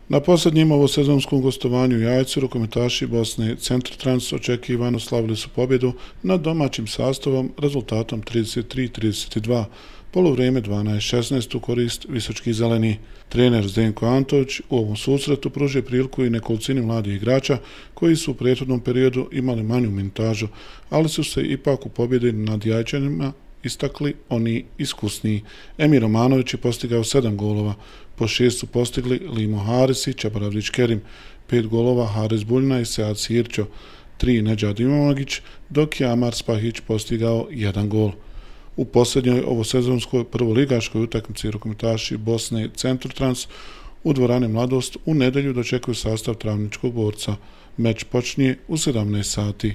Na posljednjem ovosezonskom gostovanju u Jajcu rukometaši Bosne Centrotrans očekivano slavili su pobjedu nad domaćim sastavom rezultatom 33-32, polovrijeme 12-16 u korist Visočkih zeleni. Trener Zdenko Antović u ovom susretu pružio priliku i nekolicini mladih igrača koji su u prethodnom periodu imali manju minutažu, ali su se ipak u pobjedi nad Jajčanima istakli oni iskusniji. Emir Romanović je postigao 7 golova, po 6 su postigli Limo Haris i Čabaravdić Kerim, 5 golova Haris Buljna i Sead Sirćo, 3 Nedžad Imamogić, dok je Amar Spahić postigao 1 gol. U posljednjoj ovosezonskoj prvoligaškoj utakmici rukometaši Bosne Centrotrans u dvorani Mladost u nedjelju dočekuju sastav Travničkog Borca. Meč počinje u 17 sati.